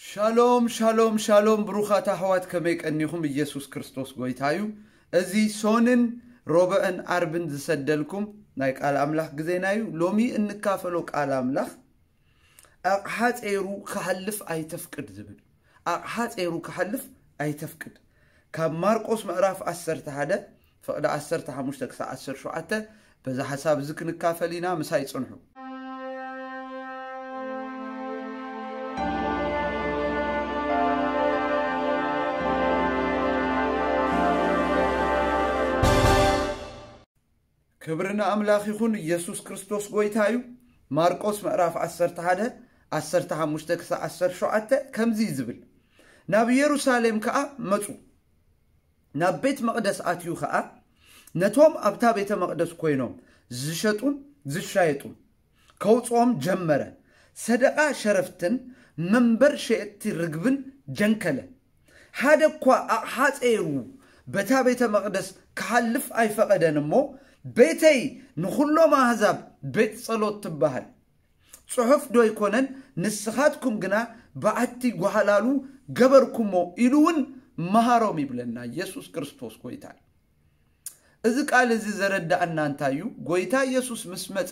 ሻሎም ሻሎም ሻሎም፣ ብሩኻት ኣሕዋት፣ ከመይ ቀኒኹም? ኢየሱስ ክርስቶስ ጎይታ እዩ። እዚ ሶንን ሮብዕን ዓርብን ዝሰደልኩም ናይ ቃል ኣምላኽ ግዜና እዩ። ሎሚ እንካፈሎ ቃል ኣምላኽ፣ ኣቕሓ ጸይሩ ክሓልፍ ኣይተፍቅድ ዝብል። ኣቕሓ ጸይሩ ክሓልፍ ኣይተፍቅድ። ካብ ማርቆስ ምዕራፍ ዓሰርተ ሓደ፣ ፍቕዲ ዓሰርተ ሓሙሽተ ክሳዕ ዓሰርተ ሸውዓተ፣ በዛ ሓሳብ እዚ ክንካፈል ኢና። ምሳይ ጽንሑ። ክብሪ ንኣምላኽ ይኹን። ኢየሱስ ክርስቶስ ጎይታ እዩ። ማርቆስ ምዕራፍ ዓሰርተ ሓደ፣ ዓሰርተ ሓሙሽተ ክሳዕ ዓሰርተ ሸውዓተ ከምዚ እዩ ዝብል፣ ናብ ኢየሩሳሌም ከኣ መጹ። ናብ ቤት መቕደስ ኣትዩ ኸኣ፣ ነቶም ኣብታ ቤተ መቕደስ ኮይኖም ዝሸጡን ዝሻየጡን ከውጽኦም ጀመረ። ሰደቓ ሸረፍትን መንበር ሸየጥቲ ርግብን ጀንከለ። ሓደ እኳ ኣቕሓ ጸይሩ በታ ቤተ መቕደስ ክሓልፍ ኣይፈቐደን እሞ፣ ቤተይ ንኹሎም ኣህዛብ ቤት ጸሎት ትበሃል። ጽሑፍ ዶ ኣይኮነን? ንስኻትኩም ግና በዓቲ ጓሃላሉ ገበርኩሞ ኢሉ እውን መሃሮም ይብለና። ኢየሱስ ክርስቶስ ጎይታ እዩ። እዚ ቃል እዚ ዘረዳእና እንታይ እዩ? ጎይታ ኢየሱስ ምስ መጸ፣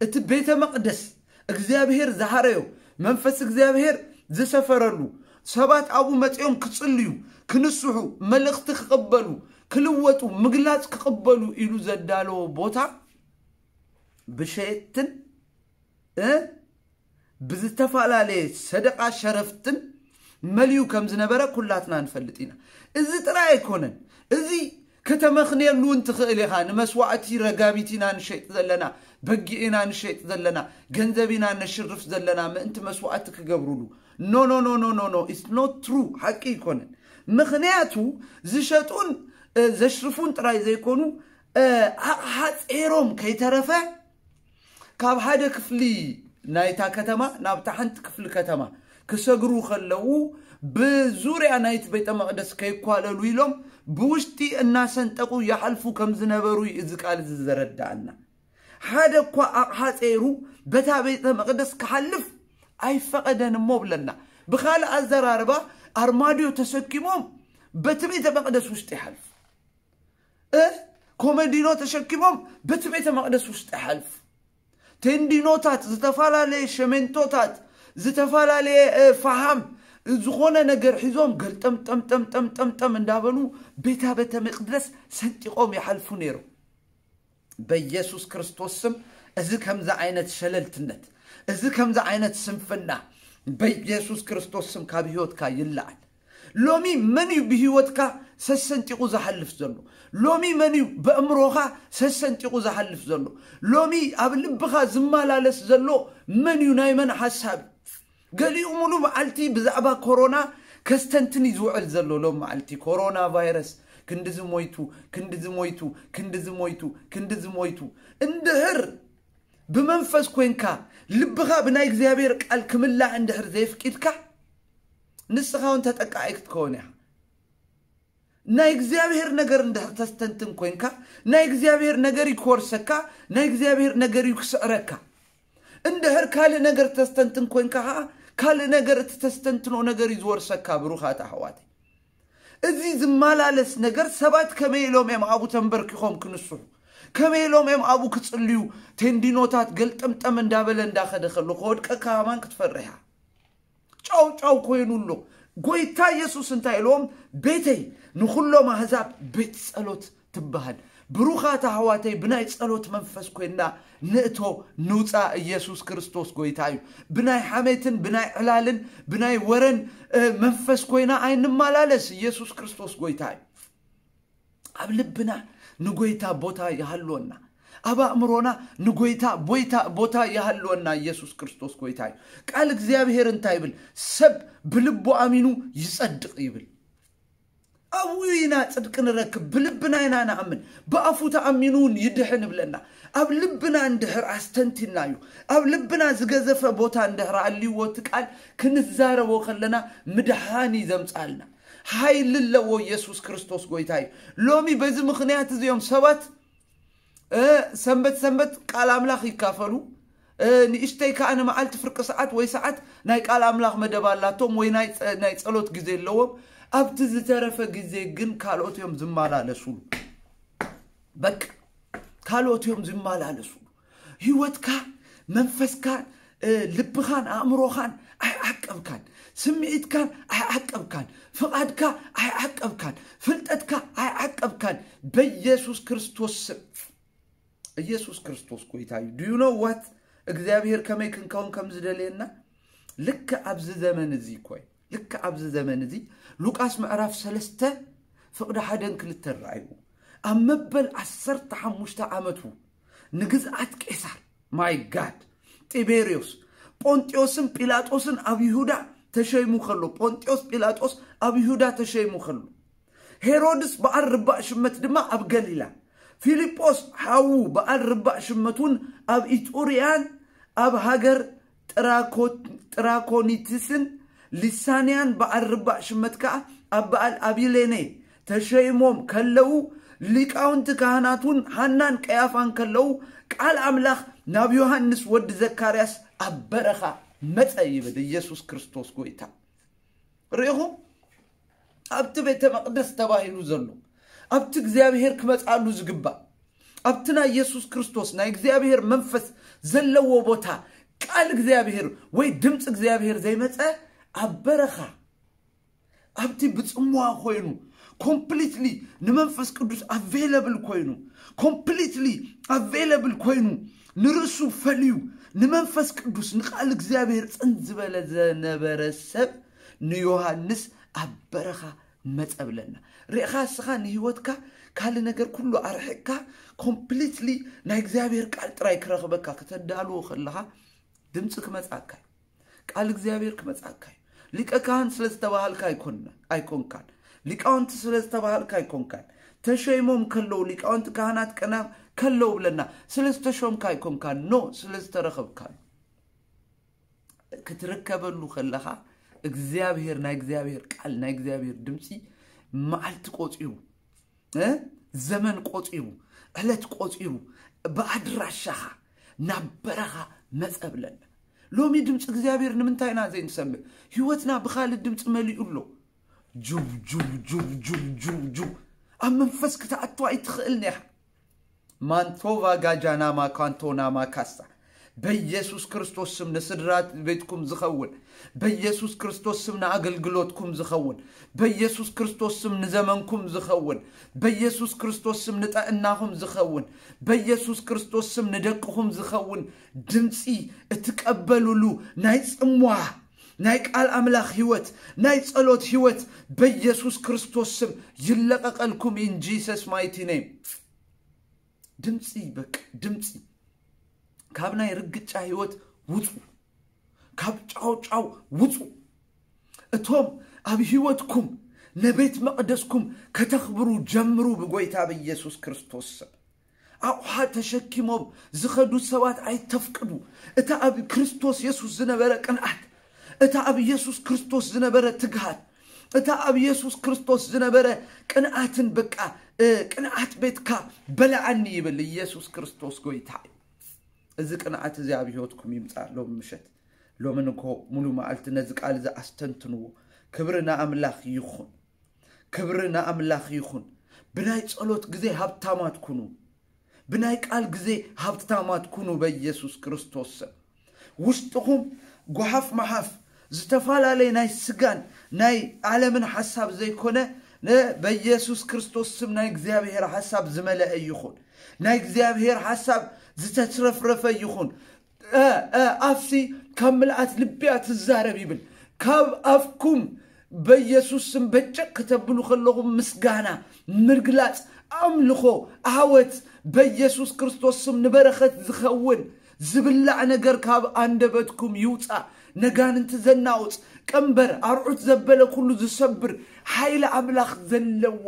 እቲ ቤተ መቕደስ እግዚኣብሔር ዝሃረዮ፣ መንፈስ እግዚኣብሔር ዝሰፈረሉ፣ ሰባት ኣብኡ መጺኦም ክጽልዩ፣ ክንስሑ፣ መልእኽቲ ክቕበሉ፣ ክልወጡ፣ ምግላጽ ክቕበሉ ኢሉ ዘዳለዎ ቦታ ብሸየጥትን እ ብዝተፈላለየ ሰደቓ ሸረፍትን መሊኡ ከም ዝነበረ ኩላትና ንፈልጥ ኢና። እዚ ጥራይ ኣይኮነን። እዚ ከተመኽንየሉ እውን ትኽእል ኢኻ። ንመስዋዕቲ ረጋቢት ኢና ንሸይጥ ዘለና፣ በጊዕ ኢና ንሸይጥ ዘለና፣ ገንዘብ ኢና ነሽርፍ ዘለና ምእንቲ መስዋዕቲ ክገብሩሉ። No, no, no, no, no, no. It's not true. ሓቂ ኣይኮነን። ምኽንያቱ ዝሸጡን፣ እ፣ ዘሽርፉን ጥራይ ዘይኮኑ፣ እ፣ ኣቕሓ ጸይሮም ከይተረፈ ካብ ሓደ ክፍሊ ናይታ ከተማ ናብታ ሓንቲ ክፍሊ ከተማ ክሰግሩ ከለዉ፣ ብዙርያ ናይቲ ቤተ መቕደስ ከይኳለሉ ኢሎም ብውሽጢ እናሰንጠቑ ይሓልፉ ከም ዝነበሩ እዩ እዚ ቃል እዚ ዘረዳእና። ሓደ እኳ ኣቕሓ ጸይሩ በታ ቤተ መቕደስ ክሓልፍ ኣይፈቐደን እሞ ብለና። ብኻልእ ኣዘራርባ፣ ኣርማድዮ ተሰኪሞም በቲ ቤተ መቕደስ ውሽጢ ይሓልፉ። እ፣ ኮመዲኖ ተሸኪሞም በቲ ቤተ መቕደስ ውሽጢ ይሓልፉ። ቴንዲኖታት፣ ዝተፈላለየ ሸሜንቶታት፣ ዝተፈላለየ፣ እ፣ ፈሃም፣ ዝኾነ ነገር ሒዞም ገልጠም ጠም ጠም ጠም ጠም ጠም እንዳበሉ ቤታ ቤተ መቕደስ ሰንጢቖም ይሓልፉ ነይሮም። በኢየሱስ ክርስቶስ ስም፣ እዚ ከምዚ ዓይነት ሸለልትነት፣ እዚ ከምዚ ዓይነት ስንፍና በኢየሱስ ክርስቶስ ስም ካብ ህይወትካ ይለዓል። ሎሚ መን እዩ ብህይወትካ ሰሰንጢቑ ዝሓልፍ ዘሎ? ሎሚ መን እዩ በእምሮኻ ሰሰንጢቑ ዝሓልፍ ዘሎ? ሎሚ ኣብ ልብኻ ዝመላለስ ዘሎ መን እዩ? ናይ መን ሓሳብ? ገሊኡ ሙሉ መዓልቲ ብዛዕባ ኮሮና ከስተንትን እዩ ዝውዕል ዘሎ። ሎም መዓልቲ ኮሮና ቫይረስ ክንድዚ ሞይቱ፣ ክንድዚ ሞይቱ፣ ክንድዚ ሞይቱ፣ ክንድዚ ሞይቱ። እንድሕር ብመንፈስ ኮይንካ፣ ልብኻ ብናይ እግዚኣብሔር ቃል ክምላእ እንድሕር ዘየፍቂድካ፣ ንስኻ እውን ተጠቃዒ ክትከውን ኢኻ። ናይ እግዚኣብሔር ነገር እንድሕር ተስተንትን ኮይንካ፣ ናይ እግዚኣብሔር ነገር እዩ ክወርሰካ፣ ናይ እግዚኣብሔር ነገር እዩ ክስዕረካ። እንድሕር ካልእ ነገር ተስተንትን ኮይንካ ኸዓ፣ ካልእ ነገር፣ እቲ ተስተንትኖ ነገር እዩ ዝወርሰካ። ብሩኻት ኣሕዋተይ፣ እዚ ዝመላለስ ነገር ሰባት ከመይ ኢሎም እዮም ኣብኡ ተንበርኪኾም ክንስሑ? ከመይ ኢሎም እዮም ኣብኡ ክጽልዩ? ቴንዲኖታት ገልጠምጠም እንዳበለ እንዳኸደ ከሎ፣ ከወድቀካ ከማን ክትፈርሕ ኢኻ። ጫው ጫው ኮይኑ ኣሎ። ጎይታ ኢየሱስ እንታይ ኢልዎም? ቤተይ ንኹሎም ኣህዛብ ቤት ጸሎት ትበሃል። ብሩኻት ኣሕዋተይ፣ ብናይ ጸሎት መንፈስ ኮይንና ንእቶ ንውጻእ። ኢየሱስ ክርስቶስ ጎይታ እዩ። ብናይ ሓሜትን ብናይ ዕላልን ብናይ ወረን፣ እ፣ መንፈስ ኮይና ኣይንመላለስ። ኢየሱስ ክርስቶስ ጎይታ እዩ። ኣብ ልብና ንጎይታ ቦታ ይሃልወና። ኣብ ኣእምሮና ንጎይታ ቦይታ፣ ቦታ ይሃልወና። ኢየሱስ ክርስቶስ ጎይታ እዩ። ቃል እግዚኣብሔር እንታይ ይብል? ሰብ ብልቡ ኣሚኑ ይጸድቕ ይብል። ኣብኡ ኢና ጽድቂ ንረክብ። ብልብና ኢና ንኣምን። ብኣፉ ተኣሚኑ እውን ይድሕን ይብለና። ኣብ ልብና እንድሕር ኣስተንቲናዩ፣ ኣብ ልብና ዝገዘፈ ቦታ እንድሕር ኣልይዎ፣ እቲ ቃል ክንዛረቦ ከለና ምድሓን እዩ ዘምጻልና። ሓይሊ ኣለዎ። ኢየሱስ ክርስቶስ ጎይታ እዩ። ሎሚ በዚ ምኽንያት እዚኦም ሰባት፣ እ፣ ሰንበት ሰንበት ቃል ኣምላኽ ይካፈሉ፣ ንእሽተይ ከዓ ንመዓልቲ ፍርቂ ሰዓት ወይ ሰዓት ናይ ቃል ኣምላኽ መደብ ኣላቶም ወይ ናይ ጸ- ናይ ጸሎት ግዜ ኣለዎም። ኣብቲ ዝተረፈ ግዜ ግን ካልኦት እዮም ዝመላለሱሉ። በቃ ካልኦት እዮም ዝመላለሱሉ። ህይወትካ፣ መንፈስካ፣ ልብኻን ኣእምሮኻን ኣይዓቀብካን። ስምዒትካን ኣይዓቀብካን። ፍቓድካ ኣይዓቀብካን። ፍልጠትካ ኣይዓቀብካን። በኢየሱስ ክርስቶስ ስም። ኢየሱስ ክርስቶስ ጎይታ እዩ። Do you know what? እግዚኣብሔር ከመይ ክንከውን ከም ዝደልየና? ልክ ኣብዚ ዘመን እዚ እኮ እዩ። ልክ ኣብዚ ዘመን እዚ ሉቃስ ምዕራፍ ሰለስተ ፍቕዲ ሓደን ክልተን ረኣይዎ። ኣብ መበል ዓሰርተ ሓሙሽተ ዓመቱ ንግዝኣት ቄሳር፣ my God፣ ጢቤርዮስ፣ ጶንጢዮስን ጲላጦስን ኣብ ይሁዳ ተሸይሙ ከሎ፣ ጶንጢዮስ ጲላጦስ ኣብ ይሁዳ ተሸይሙ ከሎ፣ ሄሮድስ በዓል ርባእ ሽመት ድማ ኣብ ገሊላ፣ ፊልጶስ ሓዉ በዓል ርባእ ሽመት እውን ኣብ ኢጡርያን ኣብ ሃገር ጥራኮ- ጥራኮኒትስን ሊሳንያን በዓል ርባእ ሽመት ከኣ ኣብ በዓል ኣቢሌኔ ተሸይሞም ከለዉ፣ ሊቃውንቲ ካህናት እውን ሃናን ቀያፋን ከለዉ፣ ቃል ኣምላኽ ናብ ዮሃንስ ወዲ ዘካርያስ ኣብ በረኻ መጸ ይብል። ኢየሱስ ክርስቶስ ጎይታ። ርኢኹም? ኣብቲ ቤተ መቕደስ ተባሂሉ ዘሎ፣ ኣብቲ እግዚኣብሔር ክመጽኣሉ ዝግባእ፣ ኣብቲ ናይ ኢየሱስ ክርስቶስ ናይ እግዚኣብሔር መንፈስ ዘለዎ ቦታ፣ ቃል እግዚኣብሔር ወይ ድምፂ እግዚኣብሔር ዘይመጸ፣ ኣብ በረኻ፣ ኣብቲ ብጽምዋ ኮይኑ፣ ኮምፕሊትሊ ንመንፈስ ቅዱስ ኣቬለብል ኮይኑ፣ ኮምፕሊትሊ ኣቬለብል ኮይኑ፣ ንርእሱ ፈልዩ፣ ንመንፈስ ቅዱስ፣ ንቃል እግዚኣብሔር ጽን ዝበለ ዘነበረ ሰብ፣ ንዮሃንስ ኣብ በረኻ መጸ ብለና። ርኢኻ፣ እስኻ ንህይወትካ ካልእ ነገር ኩሉ ኣርሒቕካ፣ ኮምፕሊትሊ ናይ እግዚኣብሔር ቃል ጥራይ ክረኽበካ ከተዳልዎ ከለኻ፣ ድምፂ ክመጻካ እዩ። ቃል እግዚኣብሔር ክመጻካ እዩ። ሊቀ ካህን ስለ ዝተባሃልካ ኣይኮንና- ኣይኮንካን። ሊቃውንቲ ስለ ዝተባሃልካ ኣይኮንካን። ተሸይሞም ከለዉ፣ ሊቃውንቲ ካህናት ቀና ከለዉ ብለና፣ ስለ ዝተሾምካ ኣይኮንካን። ኖ፣ ስለ ዝተረኸብካ እዩ። ክትርከበሉ ከለኻ፣ እግዚኣብሔር፣ ናይ እግዚኣብሔር ቃል፣ ናይ እግዚኣብሔር ድምፂ መዓልቲ ቆፂሩ፣ እ? ዘመን ቆፂሩ፣ ዕለት ቆፂሩ፣ ብኣድራሻኻ ናብ በረኻ መጸ ብለና። ሎሚ ድምፂ እግዚኣብሔር ንምንታይ ኢና ዘይንሰምዕ? ህይወትና ብኻልእ ድምፂ መሊኡ ኣሎ። ጁብ፣ ጁብ፣ ጁብ፣ ጁብ፣ ጁብ፣ ጁብ። ኣብ መንፈስ ክትኣቱ ኣይትኽእልን ኢኻ። ማንቶቫ ጋጃናማ ካንቶናማ ካሳ። በኢየሱስ ክርስቶስ ስም ንስድራ ቤትኩም ዝኸውን፣ በኢየሱስ ክርስቶስ ስም ንኣገልግሎትኩም ዝኸውን፣ በኢየሱስ ክርስቶስ ስም ንዘመንኩም ዝኸውን፣ በኢየሱስ ክርስቶስ ስም ንጥዕናኹም ዝኸውን፣ በኢየሱስ ክርስቶስ ስም ንደቅኹም ዝኸውን ድምፂ እትቀበሉሉ ናይ ጽምዋ፣ ናይ ቃል ኣምላኽ ህይወት፣ ናይ ጸሎት ህይወት በኢየሱስ ክርስቶስ ስም ይለቐቐልኩም in Jesus mighty name። ድምፂ፣ በቃ ድምፂ። ካብ ናይ ርግጫ ህይወት ውፁ። ካብ ጫው ጫው ውፁ። እቶም ኣብ ህይወትኩም ንቤት መቕደስኩም ከተኽብሩ ጀምሩ ብጎይታ ብኢየሱስ ክርስቶስ ስም። ኣቑሓ ተሸኪሞም ዝኸዱ ሰባት ኣይተፍቅዱ። እታ ኣብ ክርስቶስ የሱስ ዝነበረ ቅንኣት፣ እታ ኣብ የሱስ ክርስቶስ ዝነበረ ትግሃት፣ እታ ኣብ የሱስ ክርስቶስ ዝነበረ ቅንኣትን በቃ፣ እ፣ ቅንኣት ቤትካ በልዓኒ ይብል ኢየሱስ ክርስቶስ ጎይታ እዩ። እዚ ቅንኣት እዚ ኣብ ህይወትኩም ይምጻእ ሎም ምሸት። ሎም እንኮ ሙሉ መዓልቲ ነዚ ቃል እዚ ኣስተንትንዎ። ክብሪ ንኣምላኽ ይኹን። ክብሪ ንኣምላኽ ይኹን። ብናይ ጸሎት ግዜ ሃብታማት ኩኑ። ብናይ ቃል ግዜ ሃብታማት ኩኑ በኢየሱስ ክርስቶስ ስም። ውሽጥኹም ጓሓፍ መሓፍ ዝተፈላለየ ናይ ስጋን ናይ ዓለምን ሓሳብ ዘይኮነ፣ ነ-፣ በኢየሱስ ክርስቶስ ስም ናይ እግዚኣብሔር ሓሳብ ዝመለአ ይኹን። ናይ እግዚኣብሔር ሓሳብ ዝተትረፍረፈ ይኹን። እ፣ እ፣ ኣፍሲ ካብ ምልኣት ልብያ ትዛረብ ይብል። ካብ ኣፍኩም በኢየሱስ ስም በጨቅ ከተብሉ ከለኹም ምስጋና፣ ምግላጽ፣ ኣምልኾ፣ ዓወት በኢየሱስ ክርስቶስ ስም ንበረኸት ዝኸውን ዝብላዕ ነገር ካብ ኣንደበትኩም ይውጻእ። ነጋንንቲ ዘናውጽ ቀንበር፣ ኣርዑት ዘበለ ኩሉ ዝሰብር ሓይሊ ኣምላኽ ዘለዎ፣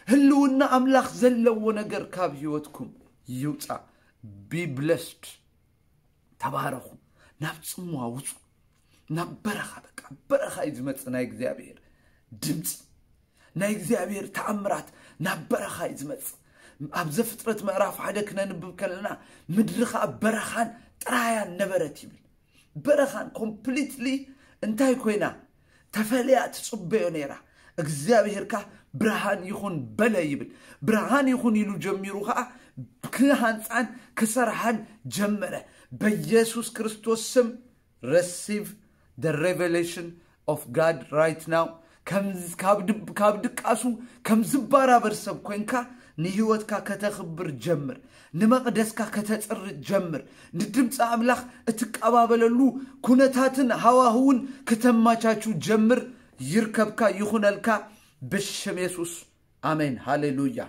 ህልውና ኣምላኽ ዘለዎ ነገር ካብ ህይወትኩም ይውጻእ። Be blessed። ተባረኹ። ናብ ጽምዋ ውጹ። ናብ በረኻ፣ በቃ በረኻ እዩ ዝመጽእ ናይ እግዚኣብሔር ድምፂ። ናይ እግዚኣብሔር ተኣምራት ናብ በረኻ እዩ ዝመጽእ። ኣብ ዘፍጥረት ምዕራፍ ሓደ ክነንብብ ከለና፣ ምድሪ ኸኣ በረኻን ጥራያ ነበረት ይብል። በረኻን ኮምፕሊትሊ እንታይ ኮይና ተፈልያ ትጽበዮ ነይራ። እግዚኣብሔር ከኣ ብርሃን ይኹን በለ ይብል። ብርሃን ይኹን ኢሉ ጀሚሩ ከኣ ክሃንጻን ክሰርሓን ጀመረ። በኢየሱስ ክርስቶስ ስም receive the revelation of God right now። ካብ ድቃሱ ከም ዝባራበር ሰብ ኮንካ ንህይወትካ ከተኽብር ጀምር። ንመቕደስካ ከተጽሪ ጀምር። ንድምፂ ኣምላኽ እትቀባበለሉ ኩነታትን ሃዋህውን ክተማቻቹ ጀምር። ይርከብካ ይኹነልካ ብሽም የሱስ። ኣሜን። ሃሌሉያ።